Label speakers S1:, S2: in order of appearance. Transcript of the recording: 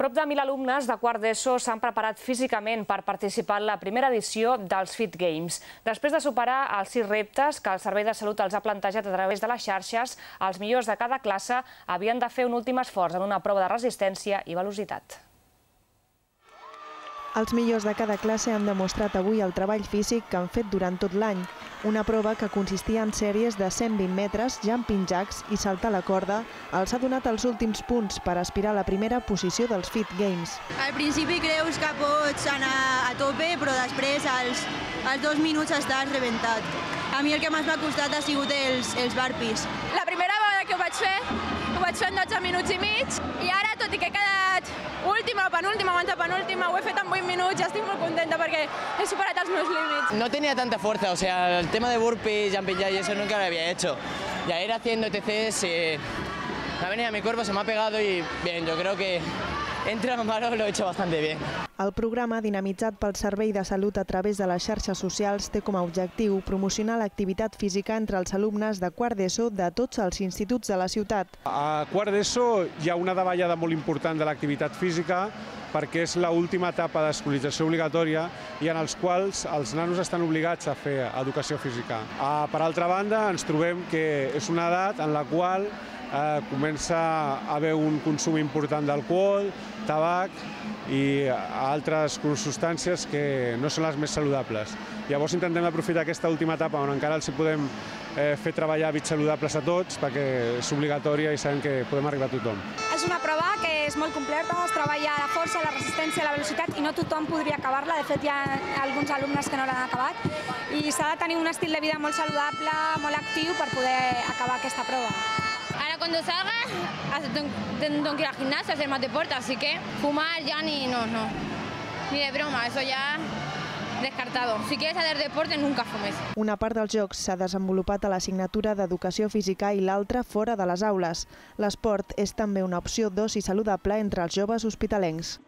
S1: Prop de 1.000 alumnes de quart d'ESO s'han preparat físicament per participar en la primera edició dels Fit Games. Després de superar els 6 reptes que el Servei de Salut els ha plantejat a través de les xarxes, els millors de cada classe havien de fer un últim esforç en una prova de resistència i velocitat.
S2: Els millors de cada classe han demostrat avui el treball físic que han fet durant tot l'any. Una prova que consistia en sèries de 120 metres, jumping jacks i saltar la corda els ha donat els últims punts per aspirar a la primera posició dels Fit Games.
S3: Al principi creus que pots anar a tope, però després als 2 minuts estàs rebentat. A mi el que més m'ha costat ha sigut els burpees.
S4: La primera vegada que ho vaig fer en 12 minuts i mig i ara, tot i que he quedat última o penúltima o antepenúltima, ho he fet en 8 minuts i estic molt contenta perquè he superat els meus límits.
S5: No tenía tanta fuerza, o sea, el tema de burpees, jumping jack y eso nunca lo había hecho. Y a ir haciendo ETCs, me ha venido a mi cuerpo, se me ha pegado y bien, yo creo que entre lo malo lo he hecho bastante bien.
S2: El programa, dinamitzat pel Servei de Salut a través de les xarxes socials, té com a objectiu promocionar l'activitat física entre els alumnes de quart d'ESO de tots els instituts de la ciutat.
S6: A quart d'ESO hi ha una davallada molt important de l'activitat física perquè és l'última etapa d'escolarització obligatòria i en els quals els nanos estan obligats a fer educació física. Per altra banda, ens trobem que és una edat en la qual comença a haver un consum important d'alcohol, tabac i altres substàncies que no són les més saludables. Llavors intentem aprofitar aquesta última etapa on encara els podem fer treballar hàbits saludables a tots perquè és obligatòria i sabem que podem arribar a tothom.
S7: És una prova que és molt completa, es treballa la força, la resistència, la velocitat i no tothom podria acabar-la, de fet hi ha alguns alumnes que no l'han acabat i s'ha de tenir un estil de vida molt saludable, molt actiu per poder acabar aquesta prova.
S4: Ahora cuando salga tengo que ir al gimnasio a hacer más deporte, así que fumar ya ni de broma, eso ya descartado. Si quieres hacer deporte, nunca fumes.
S2: Una part dels jocs s'ha desenvolupat a l'assignatura d'Educació Física i l'altra fora de les aules. L'esport és també una opció d'oci saludable entre els joves hospitalencs.